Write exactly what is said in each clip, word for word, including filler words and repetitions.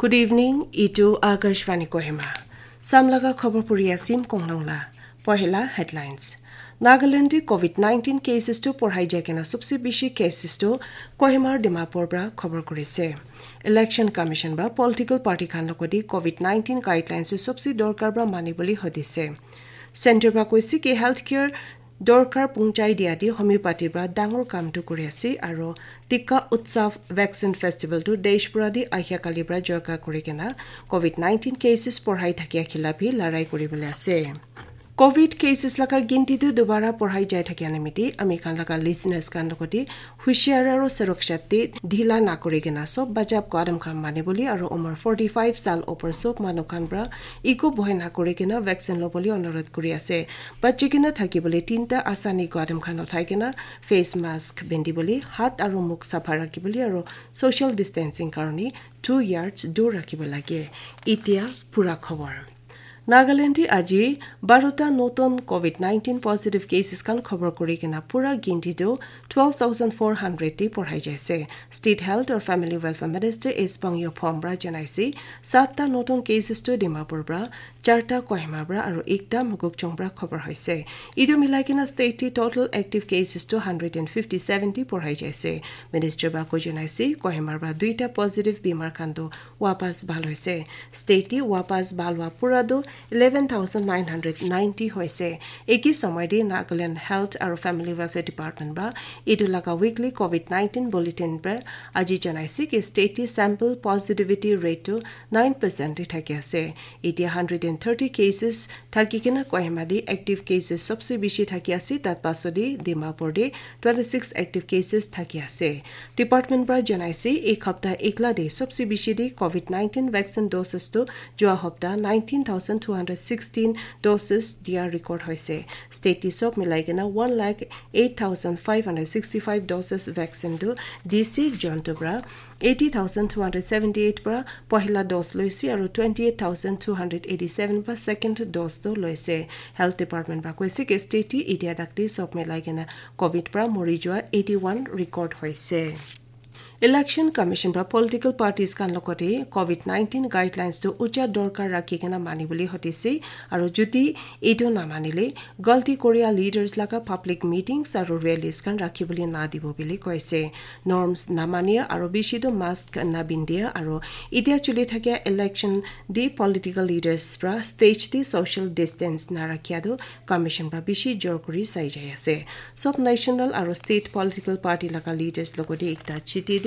Good evening, itu Akashvani Kohima. Samlaga khobor puri asim konglongla. Pohela headlines. Nagaland te covid nineteen cases tu porhai jai kena subse bishi cases tu Kohimar Dimapur bra khobor kurise. Election Commission bra political party khan logodi covid nineteen guidelines tu subse dorkar bra mani boli hodise. Center bra koise ki healthcare dorkar pungchai dia di homeopathy bra dangor kam tu kuri ase aro Tika Utsav Vaccine Festival tu desh pura di ahya kali bra jorka kuri kena covid nineteen cases porhai thakia khilap hi larai kuri bole ase. Covid cases laga ginti tu dubara porhai jai thakia nimiti ami khan laga listeners khan logodi husiar aro surakshati dhila na kuri kena sob bachap kadam khan mani boli aro umar forty five sal opor sob manu khan bra iko bohe na kuri kena vaccine loboli onurodh kuri ase. Bachi kena thaki boli tinta asani kadam khan uthai kena face mask bindi boli, hat aro mukh sapha rakhi boli aro social distancing karone two yards dur rakhibo lage. Itia pura khobor. Nagaland te aji barota notun covid nineteen positive cases khan khobor kuri kena pura ginti tu twelve thousand four hundred te porhai jaise. State Health or Family Welfare Minister S Pangyo Phom bra janaise satta notun cases tu Dimapur bra, charta Kohima bra aro ekta Mokokchung bra khobor hoise. Idu milai kena state te total active cases tu hundred and fifty seven te porhai jaise. Minister bra ko janaise Kohima bra duita positive bimar khan tu wapas bhal hoise. State te wapas bhal wa pura tu eleven thousand nine hundred ninety hoise. Eki somoy te Nagaland Health aro Family Welfare Department bra idu laga weekly covid nineteen bulletin bra aji janaise ki state te sample positivity rate tu nine percent te thaki ase. Itia hundred and thirty cases thaki kena Kohima te active cases sobse bishi thaki ase, tat paso te Dimapur te twenty six active cases thaki ase. Department bra janaise ek hapta ekla te sobse bishi te covid nineteen vaccine doses tu jua hapta nineteen thousand two hundred sixteen doses dia record hoise. State te sob milai kena one lakh eight thousand five hundred sixty five doses vaccine tu dise jontu bra eighty thousand two hundred seventy eight bra pohila dose loise aro twenty eight thousand two hundred eighty seven bra second dose tu loise. Health Department bra koise ki state te itia dakti sob milai kena covid bra mori jua eighty one record hoise. Election Commission bra political parties khan logote covid nineteen guidelines tu ucha dorkar rakhi kena mani boli hotise aro jodi etu na manile galti koria leaders laga public meetings aro rallies khan rakhi boli na dibo boli koise. Norms na mania aro bishi tu mask na bindia aro itia chuli thakia election di political leaders bra stage di social distance na rakhia tu Commission bra bishi jor kuri sai jai ase. Sob national aro state political party laga leaders logote ekta chiti de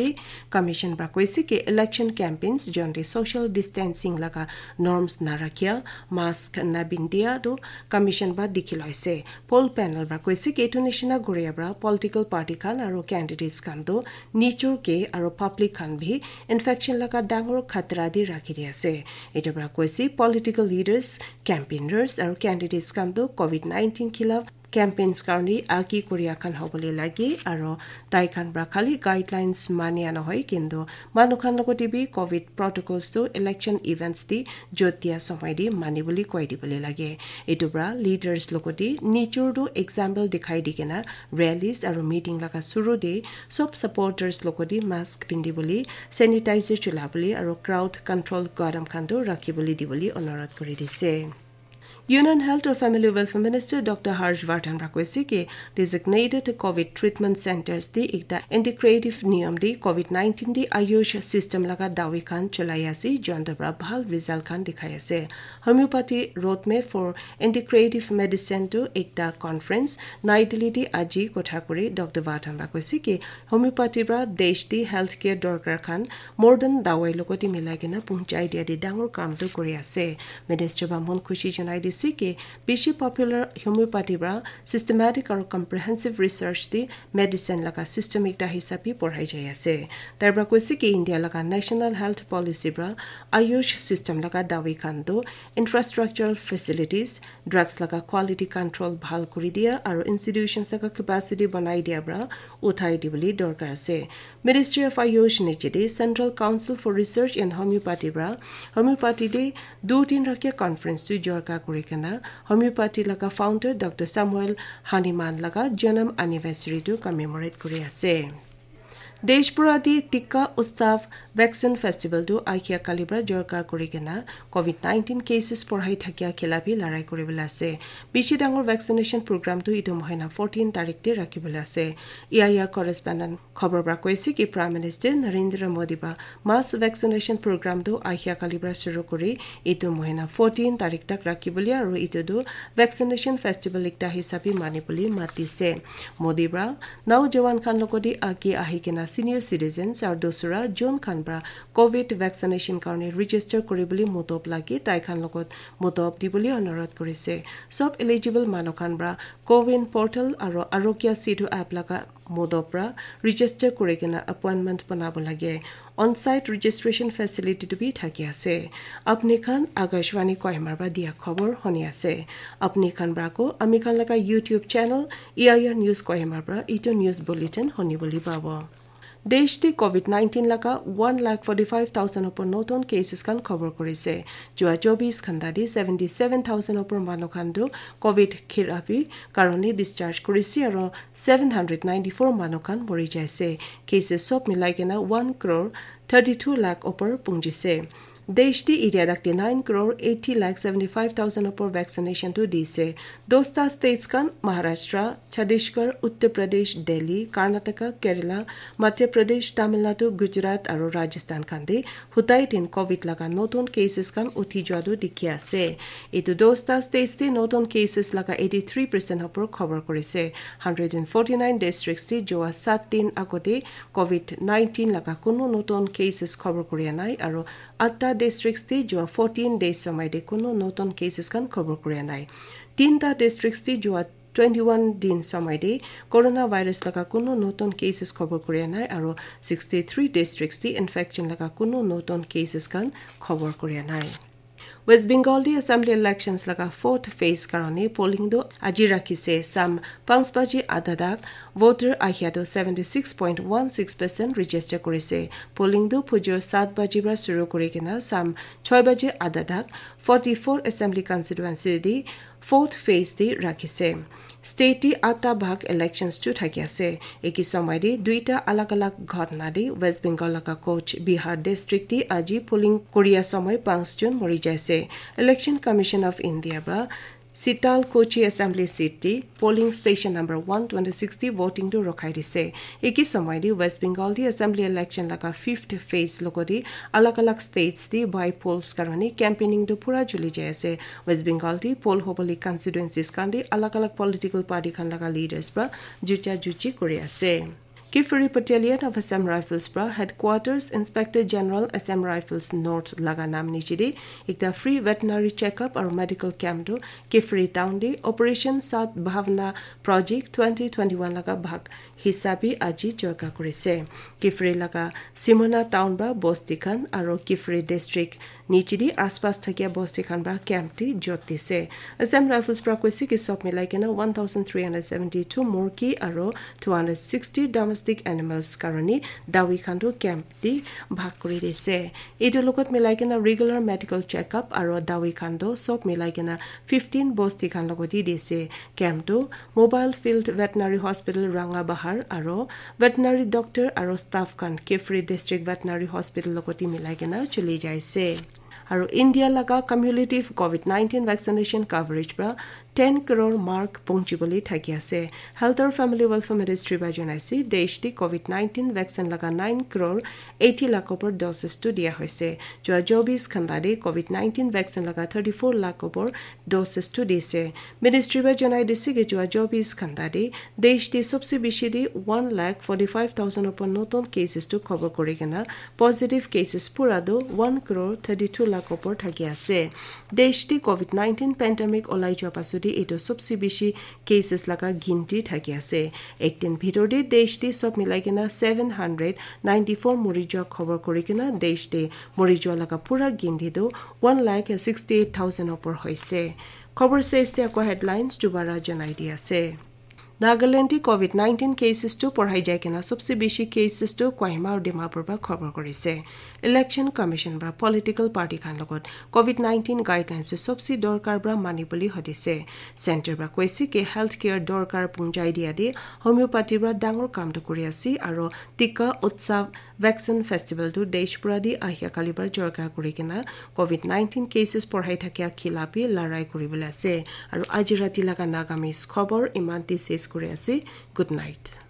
Commission bra koise ki election campaigns jonte social distancing laga norms na rakhia, mask na bindia tu Commission bra dikhi loise. Poll panel bra koise ki etu nishina goria bra political party khan aro candidates khan tu nichor ke aro public khan bhi infection laga dangor khatra di rakhi di ase. Etu bra koise political leaders, campaigners aro candidates khan tu covid nineteen khilaf campaigns karni aki koria khan hobole lage aro tai khan bra khali guidelines mania nohoi kintu manu khan logote bi covid protocols tu election events di jot dia somoi di mani boli koi dibole lage. Etu bra leaders logote nichor tu example dikhai di kena rallies aro meeting laga suru de sob supporters logote mask pindi boli, sanitizer chula boli aro crowd control kadam khan tu rakhi boli di boli onurodh kuri dise. Union Health or Family Welfare Minister Doctor Harsh Vardhan bra koise ki designated covid treatment centers di ekta integrative niyam di covid nineteen di Ayush system laga dawi khan cholai ase, jontu bra bhal result khan dikhai ase. Homeopathy Roadmap for Integrative Medicine tu ekta conference Nai Delhi di aji kotha kuri Doctor Vardhan bra koise ki homeopathy bra desh di healthcare dorkar khan modern dawai logote milai kena pungchai dia di dangor kam tu kuri ase. Minister bra mon khushi janai dise ki bishi popular homeopathy bra systematic aro comprehensive research di medicine laga system ekta hisab bi porhai jai ase. Tai bra koise ki India laga National Health Policy bra Ayush system laga dawi khan tu infrastructural facilities, drugs laga quality control bhal kuri dia aro institutions laga capacity banai dia bra uthai di boli dorkar ase. Ministry of Ayush niche de Central Council for Research in Homeopathy bra homeopathy de du din rakhia conference tu jorka kuri kena homeopathy laga founder Doctor Samuel Hahnemann laga janam anniversary tu commemorate kuri ase. Desh pura te Tika Utsav Vaccine Festival tu ahia kali pra jorkar kuri kena COVID nineteen cases porhai thakia khilap bi larai kuribole ase. Bishi dangor vaccination program tu itu mohina fourteen tarik te rakhibole ase. E I R correspondent khobor pra koise ki Prime Minister Narendra Modi pra mass vaccination program tu ahia kali pra shuru kuri itu mohina fourteen tarik tak rakhibole aru itu tu vaccination festival ekta hisabe manibole matise. Modi pra naujawan khan logodi age ahi kena senior citizens aru dusra jon khan pra COVID vaccination karone register kuribole mutop lage tai khan logot mutop dibole anurodh kurise. Sob eligible manu khan pra CoWIN portal aru Arogya Setu app laga mutop pra register kuri kena appointment banabo lage. On-site registration facility tu bi thaki ase. Apni khan Akashvani Kohima pra dia khobor huni ase. Apni khan pra ko ami khan laga YouTube channel E I R News Kohima pra itu news bulletin huni bole pabo. Desh te COVID nineteen laga one lakh forty-five thousand opor notun cases khan khobor kurise. Jua chobis ghanta te seventy-seven thousand opor manu khan tu COVID khirabi karone discharge kurise aru seven hundred ninety-four manu khan mori jaise. Cases sob milai kena one crore thirty-two lakh opor pungjise. Desh te itia dak te nine crore eighty lakh seventy-five thousand opor vaccination tu dise. Dosta states khan Maharashtra, Chhattisgarh, Uttar Pradesh, Delhi, Karnataka, Kerala, Madhya Pradesh, Tamil Nadu, Gujarat aru Rajasthan khan te hutai din COVID laga notun cases khan uthi jua tu dikhi ase. Itu dosta states te notun cases laga eighty-three percent opor khobor kurise. Hundred and forty-nine districts te jua sat din agote COVID nineteen laga kunu notun cases khobor kuria nai aru atta districts te jua fourteen days somai te kunu notun cases khan khobor kuria nai. Tinta districts te jua twenty-one din somai te coronavirus laga kunu notun cases khobor kuria nai aru sixty-three districts te infection laga kunu notun cases khan khobor kuria nai. West Bengal te assembly elections laga fourth phase karone polling tu aji rakhise. Sam panch baji adha tak voter ahia tu seventy-six point one six percent register kurise. Polling tu phujur sat baji pra shuru kuri kena sam choi baji adha tak forty-four assembly constituency te fourth phase te rakhise. State te atta bhag elections tu thaki ase. Eki somai te duita alag alag ghotna te West Bengal laga Cooch Behar district te aji polling kuria somai panch jon mori jaise. Election Commission of India pra Sitalkuchi assembly seat te polling station number one twenty-six te voting tu rokhai dise. Eki somai te West Bengal te assembly election laga fifth phase logodi alag alag states te by polls karone campaigning tu pura chuli jai ase. West Bengal te poll hobole constituencies khan te alag alag political party khan laga leaders pra jucha juchi kuri ase. Kiphire Battalion of Assam Rifles pra Headquarters Inspector General Assam Rifles North laga nam niche te ekta free veterinary checkup aru medical camp tu Kiphire town te Operation Sat Bhavna Project twenty twenty-one laga bhag hisabe aji jorka kurise. Kiphire laga Simona town pra bosti khan aru Kiphire district niche te aspas thakia bosti khan pra camp te jot dise. Assam Rifles pra koise ki sob milai kena one thousand three hundred seventy-two murgi aru two hundred sixty domestic animals karone dawi khan tu camp te bhag kuri dise. Etu logot milai kena regular medical checkup aru dawi khan tu sob milai kena fifteen bosti khan logot te dise. Camp tu Mobile Field Veterinary Hospital Ranga Bahar aru veterinary doctor aru staff khan Kiphire District Veterinary Hospital logot te milai kena chuli jaise. Aru India laga cumulative COVID nineteen vaccination coverage pra ten crore mark punchibole thaki ase. Health aru Family Welfare Ministry pra janaise, desh te COVID nineteen vaccine laga nine crore eighty lakh opor doses tu dia hoise. Jua chobis ghanta te COVID nineteen vaccine laga thirty-four lakh opor doses tu dise. Ministry pra janai dise ki jua chobis ghanta te desh te sobse bishi te one lakh forty-five thousand opor notun cases tu khobor kuri kena positive cases pura tu one crore thirty-two lakh opor thaki ase. Desh te COVID nineteen pandemic olai jua pasut te etu sobse bishi cases laga ginti thaki ase. Ek din bhitor te desh te sob milai kena seven hundred ninety-four mori jua khobor kuri kena desh te mori jua laga pura ginti tu one lakh sixty-eight thousand opor hoise. Khobor ses te ako headlines dubara janai di ase. Nagaland te covid nineteen cases tu porhai jai kena sobse bishi cases tu Kohima aru Dimapur para khobor korise. Election Commission para political party khan logot covid nineteen guidelines tu sobse dorkar para mani bole hodise. Center para koise ki healthcare dorkar punjai dia de homeopathy para dangor kam tu kuri ase aru Tika Utsav Vaccine Festival tu desh pura di ahia kali bar jorka kuri kena covid nineteen cases porhai thakia khilap bi larai kuri bole ase. Aru aji rati laga Nagamese khobor iman ti ses kuri ase. Good night.